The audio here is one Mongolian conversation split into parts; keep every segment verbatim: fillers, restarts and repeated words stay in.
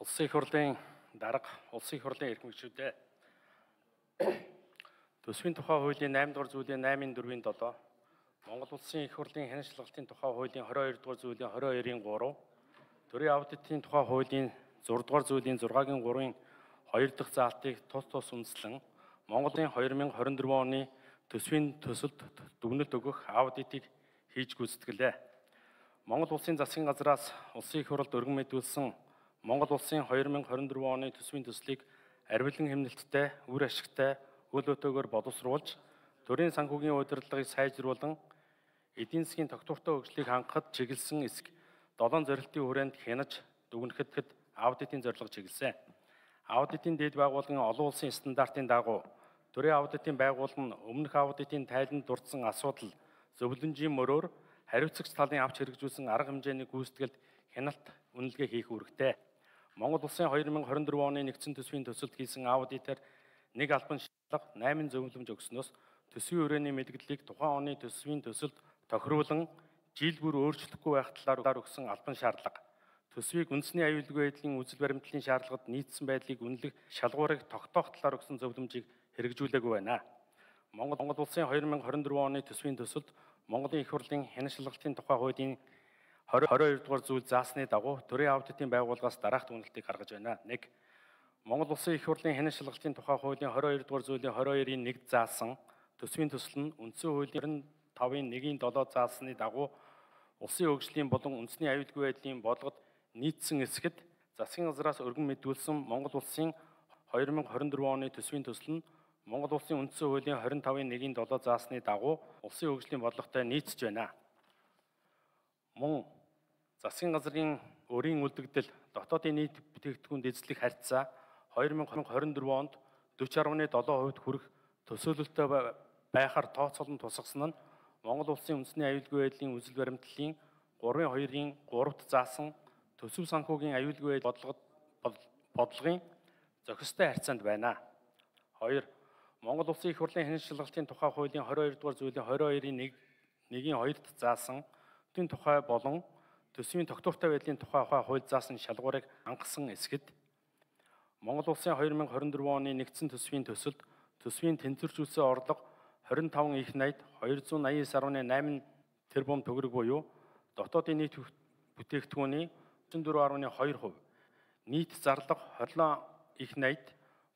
Улсын их хурлын дарга, улсын их хурлын эрх мэгчүүдээ төсвийн тухай хуулийн найман дугаар зүйлийн наймын дөрвийн долоо, Монгол улсын их хурлын хянашилгалтын тухай хуулийн хорин хоёр дугаар зүйлийн хорин хоёрын гурав, төрийн аудитын тухай хуулийн зураг дугаар зүйлийн зургагийн гурвын хоёр дахь заалтыг тус тус үндэслэн Монголын хоёр мянга хорин дөрвөн оны төсвийн төсөлд дүгнэлт өгөх аудитыг хийж гүйцэтгэлээ. Монгол улсын засгийн газраас улсын их хурлд өргөн мэдүүлсэн Монгол улсын хоёр мянга хорин дөрвөн оны төсвийн төслийг арвилан хэмнэлттэй, үр ашигтай, үйл өтөөгөөр боловсруулж, төрийн санхүүгийн удирдлагыг сайжруулан, эдийн засгийн тогтвортой хөгжлийг хангахад чиглэсэн эсэх долоон зорилтын хүрээнд хянаж дүгнэхэд аудитын зорилго чиглэсэн. Аудитын дэд байгууллагын олон улсын стандартын дагуу төрийн аудитын байгууллага нь өмнөх аудитын тайланд дурдсан асуудал зөвлөмжийн мөрөөр хариуцагч талын авч хэрэгжүүлсэн арга хэмжээний гүйцэтгэлд хяналт үнэлгээ хийх үүрэгтэй. Монгол улсын хоёр мянга хорин дөрвөн оны нэгдсэн төсвийн төсөлд хийсэн аудитээр нэг албан шалгалт найман зөвлөмж өгснөөс төсвийн хүрээний мэдээллийг тухайн оны төсвийн төсөлд тохируулан жил бүр өөрчлөхгүй байх талаар өгсөн албан шаардлага, төсвийг үндэсний аюулгүй байдлын үзэл баримтлалын шаардлагад нийцсэн байдлыг үнэлэх шалгуурыг тогтоох талаар өгсөн зөвлөмжийг хэрэгжүүлээгүй байна. Монгол Монгол улсын хоёр мянга хорин дөрвөн оны төсвийн төсөлд Монголын их хурлын хянашилгалтын тухай хуулийн хорин хоёр дугаар зүйл заасны дагуу төрийн аудитын байгууллагаас дараах дүгнэлтийг гаргаж байна. нэг. Монгол улсын их хурлын хянашилгалтын тухай хуулийн хорин хоёр дугаар зүйлийн хорин хоёрын нэг заасан төсвийн төсөл нь үндсэн хуулийн тавын нэгний долоо заасны дагуу улсын хөгжлийн болон үндэсний аюулгүй байдлын бодлогод нийцсэн эсэхэд засгийн газраас өргөн мэдүүлсэн Монгол улсын хоёр мянга хорин дөрвөн оны төсвийн төсөл нь Монгол улсын үндсэн хуулийн хорин тавын нэгний долоо заасны дагуу улсын хөгжлийн бодлоготой нийцж байна. Мөн засгийн газрын өрийн үлдэгдэл дотоодын нийт бүтээгдэхүүнд эзлэх харьцаа хоёр мянга хорин дөрвөн онд дөрвөн гаруй долоо хувьд хүрэх төсөөлөлтөй байхаар тооцоолон тусгасан нь Монгол улсын үндэсний аюулгүй байдлын үзэл баримтлалын гурван хоёрын гуравт заасан төсөв санхүүгийн аюулгүй байдлын бодлогын зохистой харьцаанд байна. хоёр. Монгол улсын их хурлын хянашилгалтын тухай хуулийн хорин хоёр дугаар зүйлийн хорин хоёрын нэгний хоёрт заасан тэн тухай болон төсвийн тогтвортой байдлын тухай хууль заасан шалгуурыг хангасан эсэхэд Монгол улсын хоёр мянга хорин дөрвөн оны нэгдсэн төсвийн төсөлд төсвийн тэнцвэржүүлсэн орлого двадцать пять их найд two eighty nine найман тэрбум төгрөг буюу дотоодын нийт бүтээгдэхүүний thirty-four point two percent, нийт зарлага twenty-seven их найд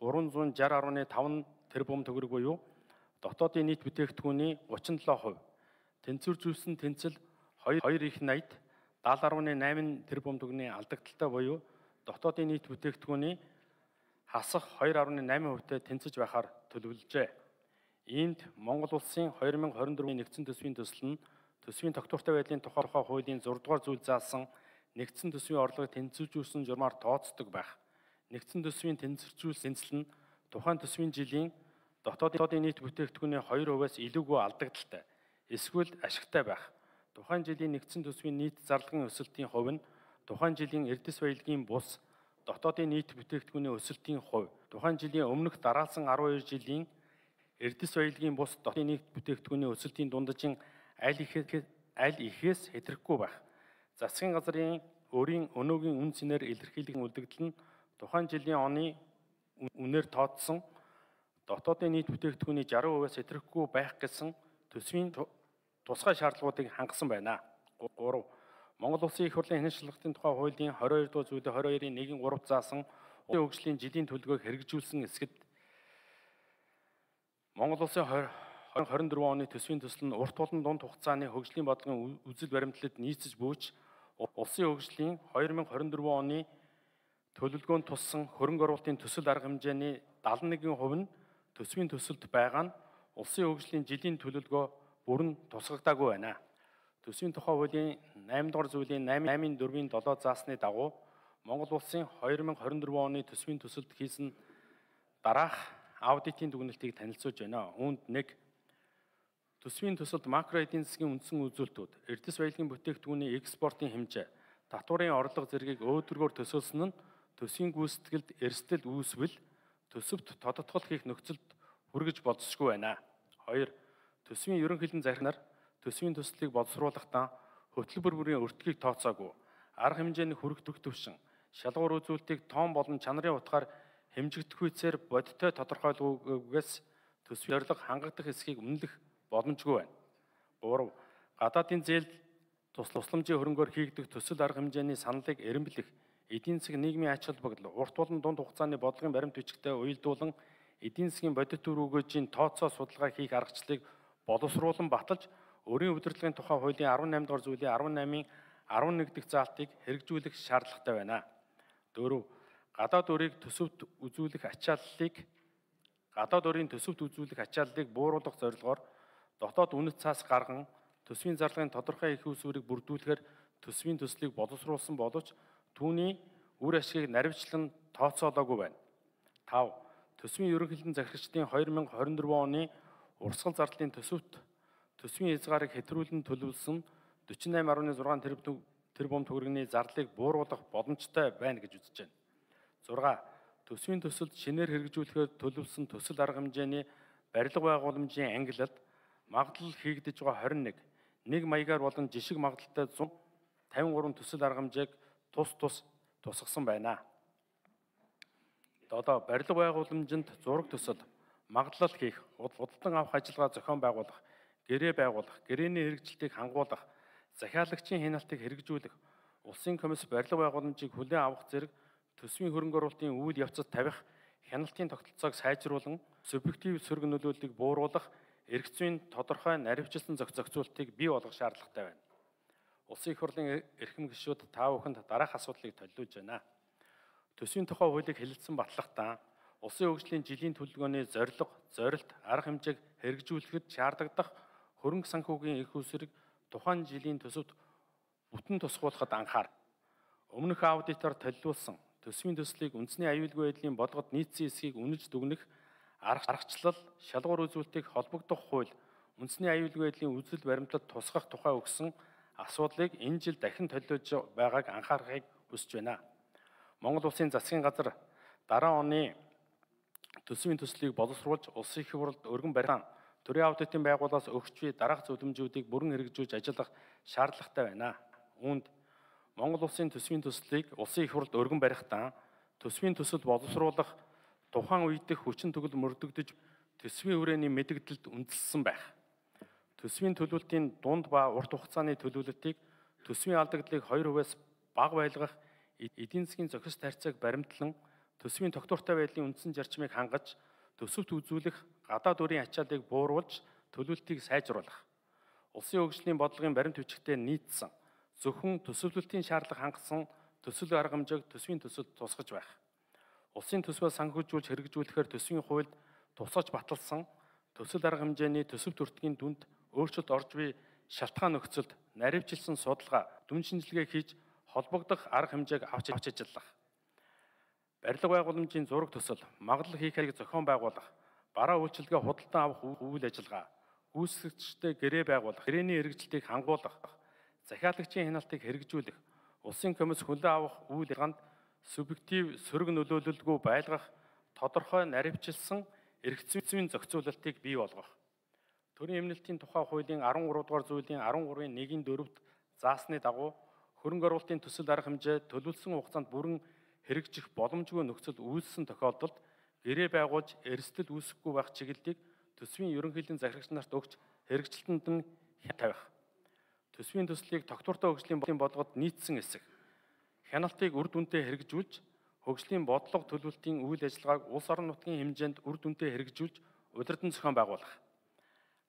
three sixty point five тэрбум төгрөг буюу дотоодын нийт бүтээгдэхүүний thirty-seven percent, тэнцвэржүүлсэн тэнцэл two их найд seventy point eight тэрбум төгрөгийн алдагдaltaй буюу дотоодын нийт бүтээгдэхүүний хасах two point eight percent-тэй тэнцэж байхаар төлөвлөжээ. Иймд Монгол улсын хоёр мянга хорин дөрвөн нэгдсэн төсвийн төсөл нь төсвийн тогтвортой байдлын тухай хуулийн six дугаар зүйл заасан нэгдсэн төсвийн орлогыг тэнцвэржүүлсэн журмаар тооцдог байх. Нэгдсэн төсвийн тэнцвэржүүлсэн тэнцэл нь тухайн төсвийн жилийн дотоодын нийт бүтээгдэхүүний two percent-аас илүүгүй алдагдaltaй, эсвэл ашигтай байх. Тухайн жилийн нэгдсэн төсвийн нийт зарлагын өсөлтийн хувь нь тухайн жилийн эрдэс баялагын бус дотоодын нийт бүтээгдэхүүний өсөлтийн хувь, тухайн жилийн өмнөх дараалсан twelve жилийн эрдэс баялагын бус дотоодын нийт бүтээгдэхүүний өсөлтийн дундажин аль ихээс аль ихээс хэтрэхгүй байх. Засгийн газрын өрийн өнөөгийн үн цэнээр илэрхийлэх үлдэгдэл нь тухайн жилийн оны үнээр тооцсон дотоодын нийт бүтээгдэхүүний sixty percent-аас хэтрэхгүй байх гэсэн төсвийн тусгай шаардлагуудыг хангасан байна. three. Монгол улсын их хурлын хянашилгалтын тухай хуулийн twenty-two дугаар зүйлийн twenty two-ийн one гуравт заасан улсын хөгжлийн жилийн төлөвлөгөөг хэрэгжүүлсэн эсэхэд Монгол улсын хорин дөрвөн оны төсвийн төсөл нь урт болон дунд хугацааны хөгжлийн бодлогын үзэл баримтлалд нийцэж бууж улсын хөгжлийн two thousand twenty-four оны төлөвлөгөөнд туссан хөрөнгө оруулалтын төсөл арга хэмжээний seventy-one percent нь төсвийн төсөлд байгаа нь улсын хөгжлийн жилийн төлөвлөгөө бүрэн тусгагдаагүй байна. Төсвийн тухай хуулийн eight дугаар зүйлийн eight дөрвийн seven заасны дагуу Монгол улсын two thousand twenty-four оны төсвийн төсөлд хийсэн дараах аудитын дүгнэлтийг танилцуулж байна. Үүнд нэг. Төсвийн төсөлд макро эдийн засгийн үндсэн үзүүлэлтүүд, эрдэс баялагын бүтээгдэхүүний экспортын хэмжээ, татварын орлого зэргийг өөдрөгөөр төсөөлсөн нь төсвийн гүйцэтгэлд эрсдэл үүсвэл төсөвт тодотгол хийх нөхцөлд хүргэж болзошгүй байна. two. Төсвийн ерөнхийлөн захирагчнаар төсвийн төслийг боловсруулахдаа хөтөлбөр бүрийн өртгийг тооцоогүй, арга хэмжээний хүрэх төвшин, шалгуур үзүүлэлтийг тоон болон чанарын утгаар хэмжигдэхүйцээр бодиттой тодорхойлгоогүйгээс төсвийн зорилго хангагдах эсхийг үнэлэх боломжгүй байна. Гурав. Гадаадын зээл тусламжийн хөрөнгөөр хийгдэх төсөл арга хэмжээний саналыг эренблэх, эдийн засаг нийгмийн ач холбогдол, урт болон дунд хугацааны бодлогын баримт бичигтэй уялдуулан эдийн засгийн бодит төр өгөөжийн тооцоо судалгаа хийх аргачлалыг боловсруулан баталж, өрийн удирдлагын тухай хуулийн арван наймдугаар зүйлийн арван наймын арван нэг дахь заалтыг хэрэгжүүлэх шаардлагатай байна. Дөрөв. Гадаад өрийг төсөвт үзүүлэх ачааллыг гадаад өрийн төсөвт үзүүлэх ачааллыг бууруулах зорилгоор дотоод үнэт цаас гарган төсвийн зарлагын тодорхой их усүрийг бүрдүүлэхээр төсвийн төслийг боловсруулсан боловч түүний үр ашгийг наривчлан тооцоолоогүй байна. Тав. Төсвийн ерөнхийлөгчдийн захирагчдын хоёр мянга хорин дөрвөн оны урсгал зардлын төсөвт төсвийн хязгаарыг хэтрүүлэн төлөвлөсөн дөрвөн найман арван зургаан тэрбум төгрөгийн зардлыг бууруулах боломжтой байна гэж үзэж байна. зурга. Төсвийн төсөлд шинээр хэрэгжүүлэхээр төлөвлөсөн төсөл арга хэмжээний барилга байгууламжийн ангилалд магадлал хийгдэж байгаа хорин нэг, нэг маягаар болон жишг магадлалтай зун тавин гурван төсөл арга хэмжээг тус тус тусгасан байна. Одоо барилга байгууламжинд зураг төсөл, магадлал хийх, худалдан авах ажиллагаа зохион байгуулах, гэрээ байгуулах, гэрээний хэрэгжилтийг хангуулах, захиалагчийн хяналтыг хэрэгжүүлэх, улсын комисс барилга байгууламжийг хүлээн авах зэрэг төсвийн хөрөнгө оруулалтын үйл явцад тавих, хяналтын тогтолцоог сайжруулан, субъектив сөрөг нөлөөллийг бууруулах, эрх зүйн тодорхой наривчлсан зохицуултыг бий болгох шаардлагатай байна. Улсын их хурлын эрхэм гишүүд та бүхэнд дараах асуудлыг төлөвлөж байна. Төсвийн тухай хуулийг хэлэлцэн батлахдаа улсын хөгжлийн жилийн төлөвлөгөөний зорилго, зорилт, арга хэмжээг хэрэгжүүлэхэд шаардлагадах хөрөнгө санхүүгийн их усрыг тухайн жилийн төсөвт бүтэн тусгуулахад анхаар. Өмнөх аудитор төлөвлөсөн төсвийн төслийг үндэсний аюулгүй байдлын бодлогод нийцсэн эсхийг үнэлж дүгнэх аргачлал, шалгуур үзүүлэлтийг холбогдох хууль, үндэсний аюулгүй байдлын үзэл баримтад тусгах тухай өгсөн асуудлыг энэ жил дахин төлөвлөж байгааг анхаарахыг хүсэж байна. Монгол Улсын засгийн газар дараа оны төсвийн төслийг боловсруулж улсын их хурлд өргөн барих төрийн аудитын байгууллагаас өгч буй дараах зөвлөмжүүдийг бүрэн хэрэгжүүлж ажиллах шаардлагатай байна. Үүнд Монгол Улсын төсвийн төслийг улсын их хурлд өргөн барихдаа төсвийн төсөл боловсруулах тухайн үеийнх хүчин төгөл мөрдөгдөж төсвийн хүрээний мэдэгдэлд үндэслсэн байх. Төсвийн төлөвлөлтийн дунд ба урт хугацааны төлөвлөлтийг төсвийн алдагдлыг хоёр хувиас бага байлгах эдийн засгийн зохис тарьцааг баримтлан төсвийн тогтвортой байдлын үндсэн зарчмыг хангаж төсөвт үзүүлэх гадаад өрийн ачааллыг бууруулж төлөвлөлтийг сайжруулах. Улсын хөгжлийн бодлогын баримт бичигтээ нийцсэн зөвхөн төсөвлөлтийн шаардлага хангасан төсөл арга хэмжээг төсвийн төсөлд тусгаж байх. Улсын төсвөө санхүүжүүлж хэрэгжүүлэхээр төсвийн хуульд тусгаж баталсан төсөл арга хэмжээний төсөв төртгийн дүнд өөрчлөлт орж буй шалтгаан нөхцөлд наривчлсан судалгаа, дүн шинжилгээ хийж холбогдох арга хэмжээг авч ажиллах. Барилга байгууламжийн зураг төсөл, магадлал хийх хэрэг зохион байгуулах, бараа үйлчилгээ худалдан авах үйл ажиллагаа, гүйцэтгэгчтэй гэрээ байгуулах, гэрээний хэрэгжилтийг хангуулах, захиалагчийн хяналтыг хэрэгжүүлэх, улсын комисс хүлээн авах үйл ажиллагаанд субъектив сөрөг нөлөөлөлгүй байлгах, тодорхой наривчлсан эрх зүйн зохицуулалтыг бий болгох. Төрийн эмнэлтийн тухай хуулийн арван гурав дугаар зүйлийн арван гурвын нэгin дөрөвт заасны дагуу хөрөнгө оруулалтын төсөл арга хэмжээ төлөвлөсөн хугацаанд бүрэн хэрэгжих боломжгүй нөхцөл үүссэн тохиолдолд гэрээ байгуулж эрсдэл үүсэхгүй байх чиглэлийг төсвийн ерөнхийлөгчдийн захирагч нарт өгч хэрэгжилтэнд нь тавих. Төсвийн төслийг тогтвортой хөгжлийн бодлогод нийцсэн эсэх. Хяналтыг үр дүнтэй хэрэгжүүлж, хөгжлийн бодлого төлөвлөлтийн үйл ажиллагааг улс орон нутгийн хэмжээнд үр дүнтэй хэрэгжүүлж, удирдан зохион байгуулах.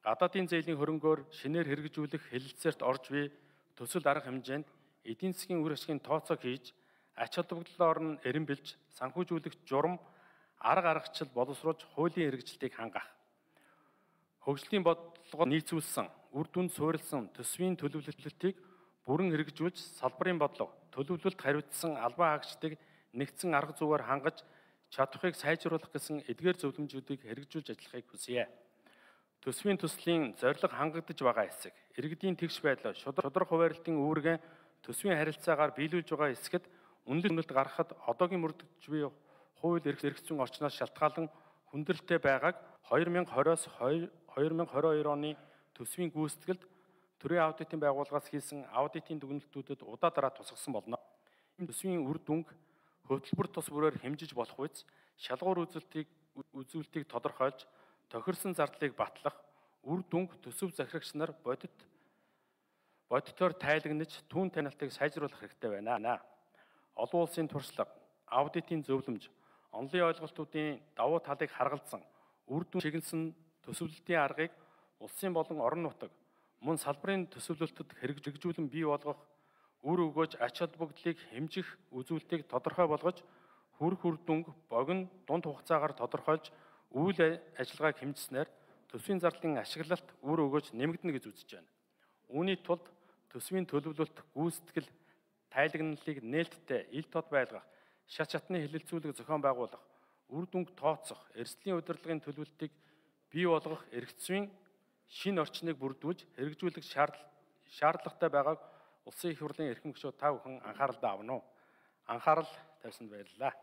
Гадаадын зээлийн хөрөнгөөр шинээр хэрэгжүүлэх хэлэлцээрт орж буй төсөл арга хэмжээнд эдийн засгийн үр ашигын тооцоо хийж, ач холбогдлоор нь эренбэлж, санхүүжүүлэх журам, арга аргачлал боловсруулж хуулийн хэрэгжилтийг хангах. Хөгжлийн бодлогод нийцүүлсэн, үр дүнд суурилсан төсвийн төлөвлөлтийг бүрэн хэрэгжүүлж, салбарын бодлого, төлөвлөлт хариуцсан албан хаагчдыг нэгдсэн арга зүйгээр хангаж чадахыг сайжруулах гэсэн эдгээр зөвлөмжүүдийг хэрэгжүүлж ажиллахыг хүсье. Төсвийн төслийн зорилго хангагдж байгаа хэсэг, иргэдийн тэгш байдал, шударга хуваарлтын үүргээ төсвийн харилцаагаар биелүүлж байгаа хэсгэд үнэлэлт үнэлт гаргахад одоогийн мөрдөж буй хууль эрх зүйн орчноос шалтгаалan хүндрэлтэй байгааг хоёр мянга двадцоос хоёр мянга двадцать хоёр оны төсвийн гүйцэтгэлд төрийн аудитын байгууллагаас хийсэн аудитын дүгнэлтүүдэд удаа дараа тусгасан болно. Төсвийн үр дүнг хөтөлбөр тус бүрээр хэмжиж болох үс шалгуур үзүүлэлтийг үзүүлэлтийг тодорхойлж тохирсон зардлыг батлах үр дүнг төсөв захирагч нар бодит бодитоор тайлагнаж түүн танилтыг сайжруулах хэрэгтэй байна. Олон улсын туршлага, аудитын зөвлөмж, онлын ойлголтуудын давуу талыг харгалзан үр дүн чиглэсэн төсөвлөлтийн аргыг улсын болон орон нутаг мөн салбарын төсөвлөлтөд хэрэгжүүлэн бий болгох, үр өгөөж ач холбогдлыг хэмжих үзүүлэлтийг тодорхой болгож, хүрх үр дүнг богино дунд хугацаагаар тодорхойлж үйл ажиллагааг хэмжснээр төсвийн зардлын ашиглалт үр өгөөж нэмэгдэнэ гэж үзэж байна. Үүний тулд төсвийн төлөвлөлт, гүйцэтгэл, тайлагналыг нээлттэй ил тод байлгах, шат шатны хэлэлцүүлэг зохион байгуулах, үр дүнг тооцох, эрсдлийн удирдлагын төлөвлөлтийг бий болгох эрхцвийн шинэ орчныг бүрдүүлж хэрэгжүүлэх шаардлагатай байгааг Улсын их хурлын эрхэм гишүүд та бүхэн анхааралдаа авна уу? Анхаарал тавьсанд баярлалаа.